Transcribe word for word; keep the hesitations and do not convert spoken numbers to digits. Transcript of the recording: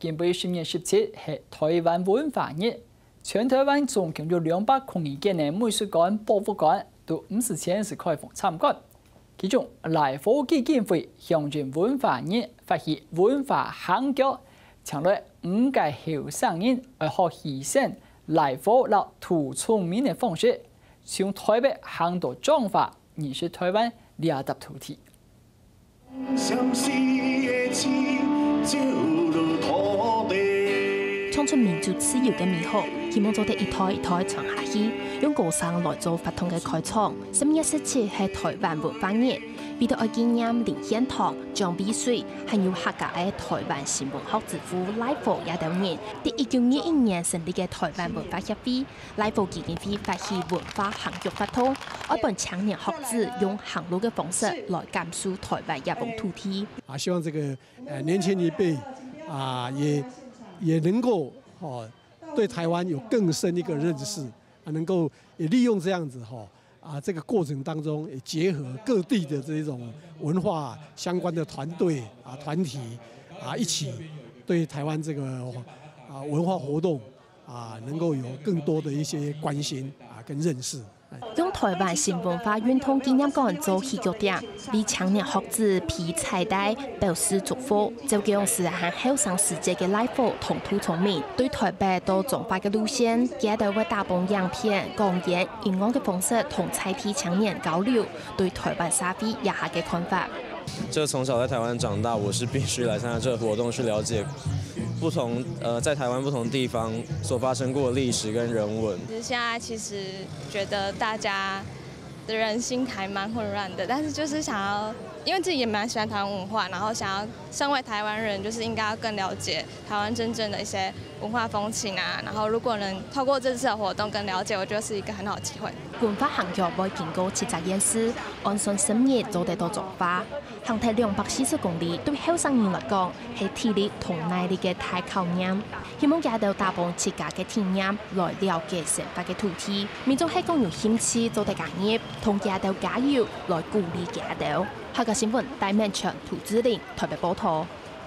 今晡日十月十七係臺灣文化日，全臺灣總共有兩百空二間个美術館、博物館都毋使錢就開放參觀。其中，來福基金會響應文化日發起文化行腳，請來五個後生人愛學戲生、來福摎塗聰明个方式，從臺北行到彰化，認識臺灣這搭土地。 唱出民族自由个美好，希望做得一代一代傳下去，用歌聲來做活動个開場。十月十七係臺灣文化日，為著愛紀念林獻堂、蔣渭水，還有客家个臺灣新文學之父來福這兜人，在一九二一年成立个臺灣文化協會， 來福基金會發起文化行腳活動，愛分青年學子用行路个方式來感受臺灣這方土地。啊，希望這個呃年輕一輩啊，也也能夠哦對臺灣有更深一個認識，啊，能夠也利用這樣子哈啊這個過程當中也結合各地的這一種文化相關的團隊啊團體啊一起對臺灣這個啊文化活動 啊，能夠有更多的一些關心啊跟認識。用臺灣新文化運動紀念館做起腳點，為青年學子披彩帶，表示祝福。照講係還後生時節个來福同塗聰明，對臺北到彰化个路線，佢兜會打幫影片、講演、音樂个方式同在地青年交流，對臺灣社會這下个看法。 就從小在台灣長大，我是必須來參加這個活動，去了解不同呃在台灣不同地方所發生過的歷史跟人文。其實現在其實覺得大家的人心還蠻混亂的，但是就是想要，因為自己也蠻喜歡台灣文化，然後想要身為台灣人，就是應該要更了解台灣真正的一些文化風情啊。然後如果能透過這次的活動更了解，我覺得是一個很好的機會。文化行腳會經過七隻縣市，按算十日做得到彰化。 行忒兩百四十公里，對後生人來講係體力同耐力个大考驗。希望佢兜打幫自家个體驗，來了解生活个土地。民眾係講有興趣做得加入，同佢兜加油，來鼓勵佢兜。客家新聞，戴明全、涂志玲，臺北報導。